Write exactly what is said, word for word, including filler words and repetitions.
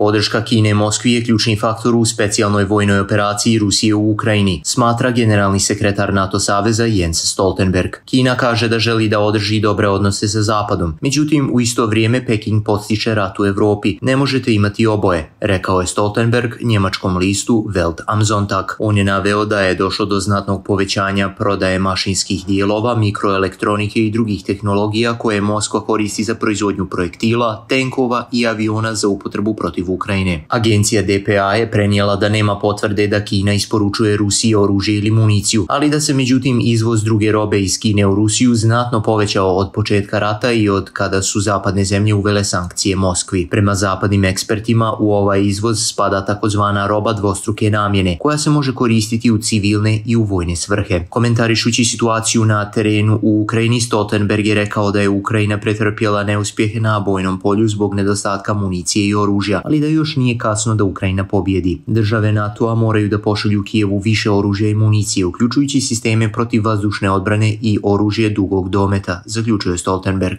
Podrška Kine Moskvi je ključni faktor u specijalnoj vojnoj operaciji Rusije u Ukrajini, smatra generalni sekretar NATO saveza Jens Stoltenberg. Kina kaže da želi da održi dobre odnose sa Zapadom, međutim u isto vrijeme Peking podstiče rat u Europi. Ne možete imati oboje, rekao je Stoltenberg njemačkom listu Welt am Sonntag. On je naveo da je došlo do znatnog povećanja prodaje mašinskih dijelova, mikroelektronike i drugih tehnologija koje Moskva koristi za proizvodnju projektila, tenkova i aviona za upotrebu protiv Ukrajine. Agencija D P A je prenijela da nema potvrde da Kina isporučuje Rusiji oružje ili municiju, ali da se međutim izvoz druge robe iz Kine u Rusiju znatno povećao od početka rata i od kada su zapadne zemlje uvele sankcije Moskvi. Prema zapadnim ekspertima u ovaj izvoz spada takozvana roba dvostruke namjene, koja se može koristiti u civilne i u vojne svrhe. Komentarišući situaciju na terenu u Ukrajini, Stoltenberg je rekao da je Ukrajina pretrpjela neuspjehe na bojnom polju zbog nedostatka municije i oružja, ali da još nije kasno da Ukrajina pobjedi. Države NATO-a moraju da pošalju Kijevu više oružja i municije, uključujući sisteme protiv vazdušne odbrane i oružje dugog dometa, zaključuje Stoltenberg.